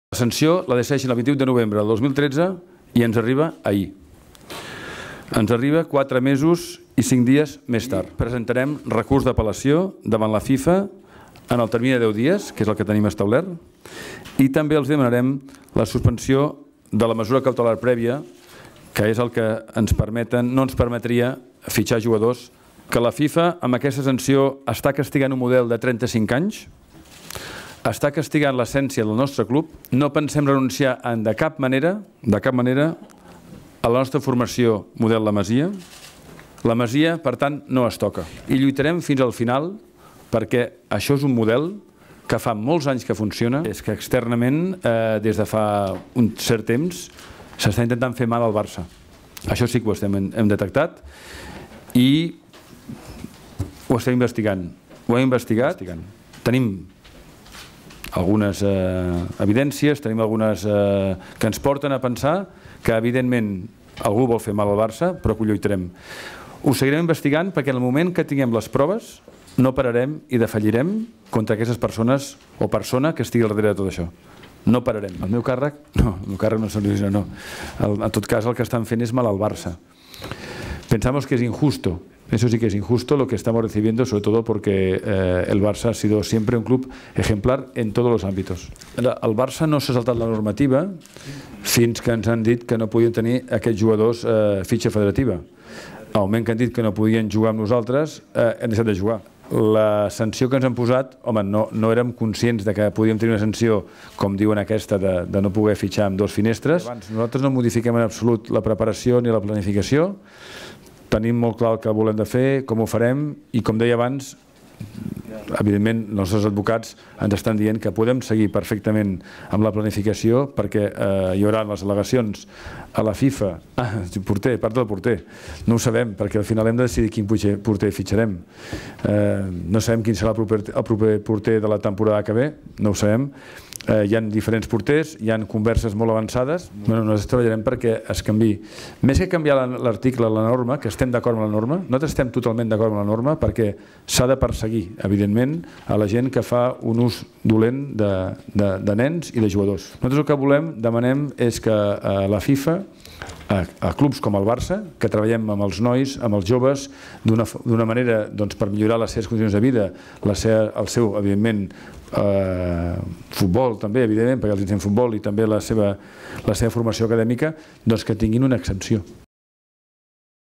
La sanció la decideixen el 28 de novembre del 2013 i ens arriba ahir. Ens arriba 4 mesos i 5 dies més tard. Presentarem recurs d'apel·lació davant la FIFA en el termini de 10 dies, que és el que tenim establert, i també els demanarem la suspensió de la mesura cautelar prèvia, que és el que no ens permetria fitxar jugadors, que la FIFA amb aquesta sanció està castigant un model de 35 anys, està castigant l'essència del nostre club. No pensem renunciar de cap manera a la nostra formació model La Masia. La Masia, per tant, no es toca. I lluitarem fins al final perquè això és un model que fa molts anys que funciona. És que externament, des de fa un cert temps, s'està intentant fer mal al Barça. Això sí que ho hem detectat i ho estem investigant. Ho hem investigat. Tenim algunes evidències, tenim algunes que ens porten a pensar que evidentment algú vol fer mal al Barça, però que ho lluitarem. Ho seguirem investigant perquè en el moment que tinguem les proves no pararem i defallirem contra aquestes persones o persona que estigui al darrere de tot això. No pararem. El meu càrrec? No, el meu càrrec no soluciona, no. En tot cas el que estan fent és mal al Barça. Pensamos que es injusto. Eso sí que es injusto lo que estamos recibiendo, sobre todo porque el Barça ha sido siempre un club ejemplar en todos los ámbitos. El Barça no s'ha saltat la normativa fins que ens han dit que no podien tenir aquests jugadors fitxa federativa. Al moment que han dit que no podien jugar amb nosaltres, hem deixat de jugar. La sanció que ens han posat, home, no érem conscients de que podíem tenir una sanció, com diuen aquesta, de no poder fitxar amb 2 finestres. Nosaltres no modifiquem en absolut la preparació ni la planificació. Tenim molt clar el que volem de fer, com ho farem, i com deia abans, evidentment els nostres advocats ens estan dient que podem seguir perfectament amb la planificació perquè hi haurà les al·legacions a la FIFA. Porter, part del porter. No ho sabem, perquè al final hem de decidir quin porter fitxarem. No sabem quin serà el proper porter de la temporada que ve, no ho sabem. Hi ha diferents porters, hi ha converses molt avançades. Nosaltres treballarem perquè es canviï. Més que canviar l'article, la norma, que estem d'acord amb la norma, nosaltres estem totalment d'acord amb la norma perquè s'ha de perseguir, evidentment, a la gent que fa un ús dolent de nens i de jugadors. Nosaltres el que demanem és que la FIFA, a clubs com el Barça, que treballem amb els nois, amb els joves, d'una manera per millorar les seves condicions de vida, el seu, evidentment, futbol també, evidentment, perquè els ensenyem futbol i també la seva formació acadèmica, doncs que tinguin una exempció.